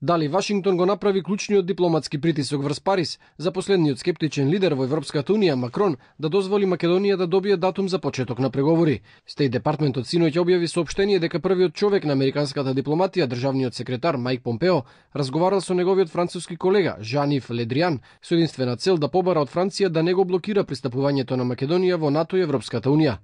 Дали Вашингтон го направи клучниот дипломатски притисок врз Париз за последниот скептичен лидер во Европската унија Макрон да дозволи Македонија да добие датум за почеток на преговори? Стејт департментот синоќ објави соопштение дека првиот човек на американската дипломатија, државниот секретар Мајк Помпео, разговарал со неговиот француски колега Жан-Ив Ле Дриан со единствена цел да побара од Франција да не го блокира пристапувањето на Македонија во НАТО и Европската унија.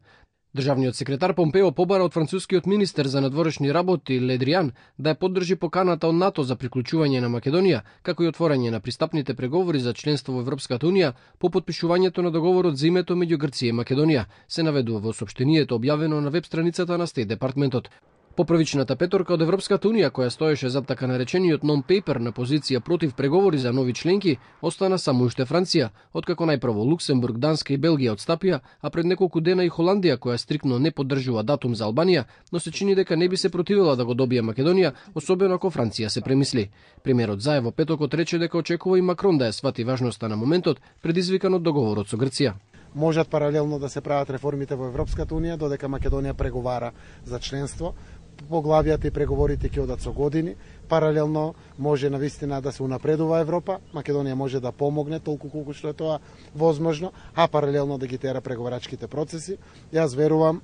Државниот секретар Помпео побара од францускиот министер за надворешни работи Ле Дриан да ја поддржи поканата од НАТО за приклучување на Македонија, како и отворање на пристапните преговори за членство во Европската унија по потпишувањето на договорот за името меѓу Грција и Македонија, се наведува во соопштението објавено на веб страницата на Стејт департментот. Поправичната петорка од Европската унија, која стоеше зад така наречениот non-paper на позиција против преговори за нови членки, остана само уште Франција, откако најпрво Луксембург, Данска и Белгија отстапија, а пред неколку дена и Холандија, која стрикно не поддржува датум за Албанија, но се чини дека не би се противила да го добие Македонија, особено ако Франција се премисли. Премиерот Заев во петокот рече дека очекува и Макрон да ја свати важноста на моментот, предизвикан од договорот со Грција. Можат паралелно да се прават реформите во Европската унија додека Македонија преговара за членство. Поглавијата и преговорите ќе одат со години. Паралелно може навистина да се унапредува Европа, Македонија може да помогне толку колку што е тоа возможно, а паралелно да ги тера преговарачките процеси. Јас верувам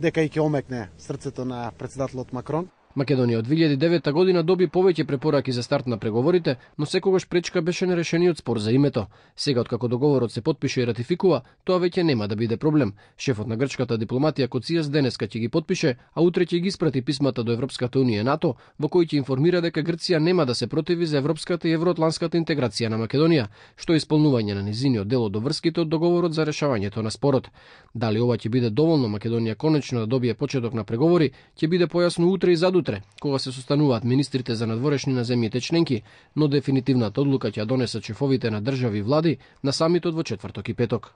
дека и ќе омекне срцето на претседателот Макрон. Македонија од 2009 година доби повеќе препораки за старт на преговорите, но секогаш пречка беше нерешениот спор за името. Сега, откако договорот се потпише и ратификува, тоа веќе нема да биде проблем. Шефот на грчката дипломатија Коцијас денеска ќе ги потпише, а утре ќе ги испрати писмата до Европската унија и НАТО, во кои ќе информира дека Грција нема да се противи за европската и евроатланската интеграција на Македонија, што е исполнување на низиниот дел од врските од договорот за решавањето на спорот. Дали ова ќе биде доволно Македонија конечно да добие почеток на преговори, ќе биде појасно утре и задутре, кога се состануваат министрите за надворешни на земјите членки, но дефинитивната одлука ќе ја донесат шефовите на држави и влади на самитот во четврток и петок.